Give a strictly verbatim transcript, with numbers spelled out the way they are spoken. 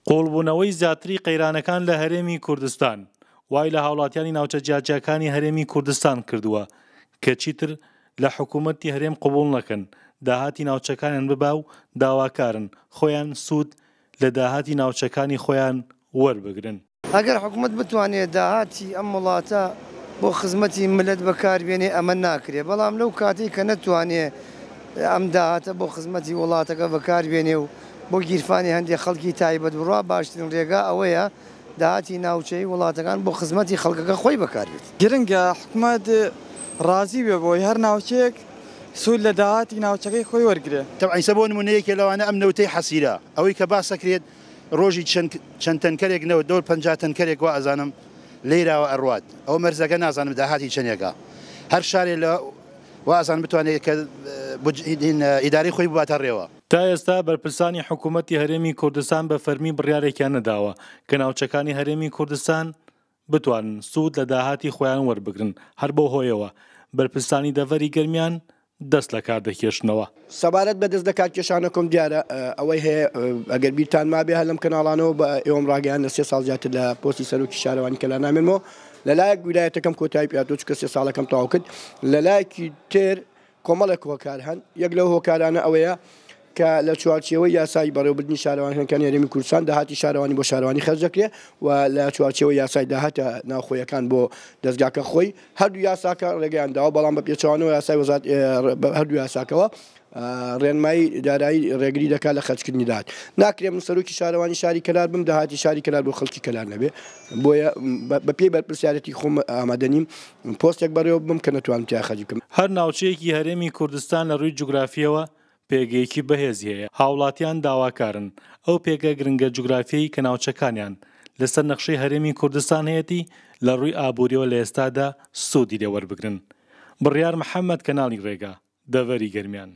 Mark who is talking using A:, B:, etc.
A: قوڵبوونەوەی زیاتری قەیرانەکان لە هەرێمی کوردستان وای لە هاوڵاتیانی ناوچە جیاجیاکانی هەرێمی کوردستان کردووە کە چیتر لە حکوومەتی هەرێم قبوڵ نەکەن داهاتی ناوچەکانیان ببا و داواکارن خۆیان سوود لە داهاتی ناوچەکانی خۆیان وەربگرن.
B: ئەگەر حکوومەت بتوانێت داهاتی ئەم وڵاتە بۆ خزمەتی ملت بەکاربێنێ ئەمە ناکرێ، بەڵام لەو کاتێک کە نەتوانێ ئەم داهاتە بۆ خزمەتی وڵاتەکە بەکاربێنێ و بۆ گیرفانی هەندێک خەڵکی تایبەت بڕوا، باشترین ڕێگا ئەوەیە داهاتی ناوچەی وڵاتەکان بۆ خزمەتی خەڵکەکە خۆی بەکاربێت.
C: گرنگە حکوومەت ڕازی بێ بۆی هەر ناوچەیەک سوود لە داهاتی ناوچەکەی خۆی وەرگێ.
D: تەبعەن بۆ نمونەیەکێ لەوانە ئەم نەوتەی حەسیرە، ئەوەی کە باسەکرێت ڕۆژی چەند تەنکەرێک نەوت، دەور پەنجا تەنکەرێک وا ئەزانم لێراوە ئەڕوات، ئەو مەرزەکە نازانم داهاتی چەندێکە. هەر شارێ لە وا ئەزانم بتوانێت کە ئیدارەی خۆی بباتە ڕێوە.
A: تا ئێستا بەرپرسانی حکوومەتی هەرێمی کوردستان بە فەرمی بڕیارێکیان نەداوە کە ناوچەکانی هەرێمی کوردستان بتوانن سوود لە داهاتی خۆیان وەربگرن. هەر بەو هۆیەوە بەرپرسانی دەڤەری گەرمیان دەست لە کار دەکێشنەوە.
E: سەبارەت بە دەست لە کارکێشانەکەم دیارە ئەوەی هەیە ئەگەر بیرتان مابێ هەر لەم کەناڵانەوە بە ئێوەم ڕاگەیان لە سێ ساڵ زیاتر لە پۆستی سەرۆکی شارەوانی کەلار نامێنمەوە. لەلایەک ویلایەتەکەم کۆتایی پێهاتووە چونکە سێ ساڵەکەم تەواو کرد، لەلایەکی تر کۆمەڵێک هۆکار هەن. یەک لەو هۆکارانە ئەوەیە کە لە چوارچێوەی یاسای بەڕێوەبردنی شارەوانیەکانی هەرێمی کوردستان داهاتی شارەوانی بۆ شارەوانی خەرج دەکرێت و لە چوارچێوەی یاسای داهاتە ناوخۆیەکان بۆ دەستگاکە خۆی هەردوو یاساکە ڕێگەیان داوە، بەڵام بە پێچەوانەوە یاسای وەزارەت هەردوو یاساکەوە ڕێنمایی دارایی ڕێگری دەکات لە خەرجکردنی داهات. ناکرێ من سەرۆکی شارەوانی شاری کەلار بم داهاتی شاری کەلار بۆ خەڵکی کەلار نەبێ، بۆیە بە پێی بەرپرسیارەتی خۆم ئامادە نیم پۆستێک بەڕێوە بم کە نەتوانم تیا خەرج بکەم.
A: هەر ناوچەیەکی هەرێمی کوردستان لە ڕووی جوگرافیەوە پێگەیەکی بەهێزی هەیە. هاوڵاتیان داواکارن ئەو پێگە گرنگە جوگرافیەی کە ناوچەکانیان لەسەر نەخشەی هەرێمی کوردستان هەیەتی لە ڕووی ئابووریەوە لە ئێستادا سوودی لێ وەربگرن. بڕیار محەممەد، کەناڵی ڕێگا، دەڤەری گەرمیان.